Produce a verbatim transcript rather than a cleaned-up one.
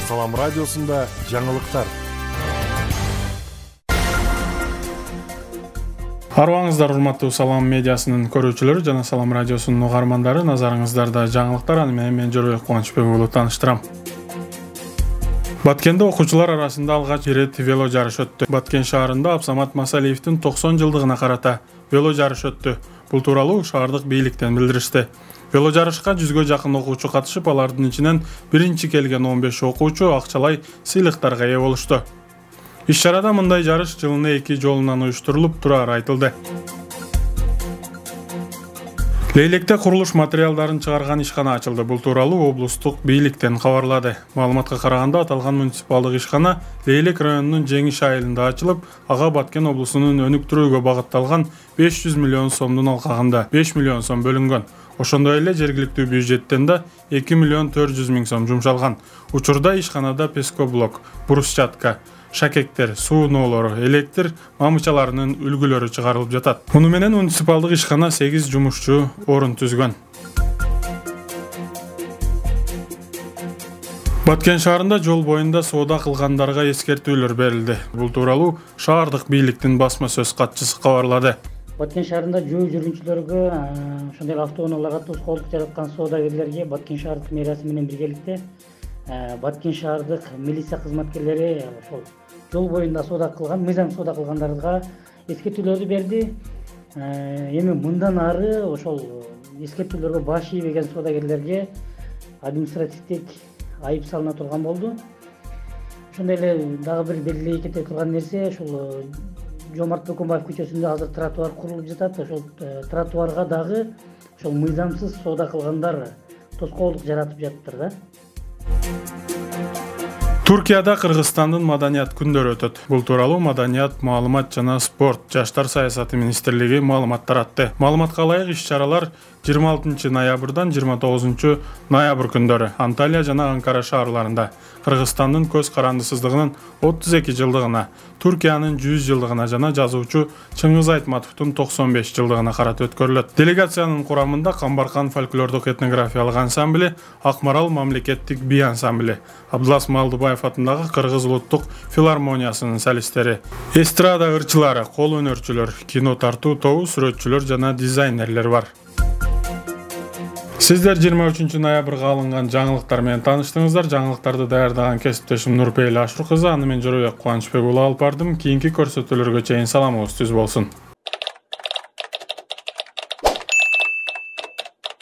Салам радиосунда жаңылыктар. Арыбаңыздар урматтуу Салам медиасынын көрүүчүлөрү жана Салам радиосунун угармандары, назарыңыздарда жаңылыктар. Аны менен мен Жоройок Кубанычбек уулу тааныштырам. Баткенде окуучулар арасында алгач ирет вело жарыш өттү. Баткен шаарында Абсамат Масалиевдин токсон жылдыгына карата вело жарыш өттү. Бул тууралуу шаардык бийликтен билдиришти. Вело жарышка жүзгө жакын окуучу катышып, алардын ичинен биринчи келген он беш окуучу акчалай сыйлыктарга ээ болушту. Иш-чарада мындай жарыш жылына эки жолунан уюштурулуп турары айтылды. Лейлекте курулуш материалдарын чыгарган ишкана ачылды. Бул тууралуу облустук бийликтен кабарлады. Маалыматка караганда, аталган муниципалдык ишкана Лейлек районунун Жеңиш айылында ачылып, ага Баткен облусунун өнүктүрүүгө багытталган беш жүз миллион сомдун алкагында беш миллион сом бөлүнгөн. Ошондой эле жергиликтүү бюджеттен да эки миллион төрт жүз миң сом жумшалган. Учурда ишканада пескоблок, брусчатка, шакектер, сууноолору, электр мамычаларынын үлгүлөрү чыгарылып жатат. Муну менен муниципалдык ишкана сегиз жумушчу орун түзгөн. Баткен шаарында жол боюнда соода кылгандарга эскертүүлөр берилди. Бул тууралуу шаардык бийликтин басма сөз катчысы кабарлады. Баткен шаарында жөө жүргүнчүлөргө, ошондой автоунааларга тоскоолдук жараткан соодагерлерге Баткен шаардык мэриясы менен биргеликте Баткен шаардык милиция кызматкерлери ошол жол боюнда соода кылган, мыйзам соода кылгандарга эскертүүлөрдү берди. Эми мындан ары ошол эскертүүлөргө баш ийбеген соодагерлерге административдик айып салына турган болду. Ошондой эле дагы бир белгилей кете турган нерсе, ошол Жомарт Бөкөнбаев көчөсүндө азыр тротуар курулуп жатат. Ошол тротуарга дагы ошол мыйзамсыз соода кылгандар тоскоолдук жаратып жатыптыр да. Туркияда Кыргызстандын маданият күндөрү өтөт. Бул тууралуу Маданият, маалымат жана спорт, жаштар саясаты министрлиги маалымат таратты. Маалыматка ылайык иш-чаралар жыйырма алтынчы ноябрдан жыйырма тогузунчу ноябрь күндөрү Анталия жана Анкара шаарларында, Кыргызстандын көз карандысыздыгынын отуз эки жылдыгына, Туркиянын жүз жылдыгына жана жазуучу Чыңгыз Айтматовдун токсон беш жылдыгына карата өткөрүлөт. Делегациянын курамында Камбаркан фольклордук этнографиялык ансамбли, Акмарал мамлекеттик би ансамбли, Абдылас Малдыбаев атындагы Кыргыз улуттук филармониясынын солисттери, эстрада ырчылары, кол өнөрчүлөр, кино тартуу тобу, сүрөтчүлөр жана дизайнерлер бар. Сиздер жыйырма үчүнчү ноябрга алынган жаңылыктар менен тааныштыңыздар. Жаңылыктарды даярдаган кесиптешим Нурпейли Ашур кызы, аны мен Жоройок Кубанычбек уулу алып бардым. Кийинки көрсөтүүлөргө чейин саламыбыз түз болсун.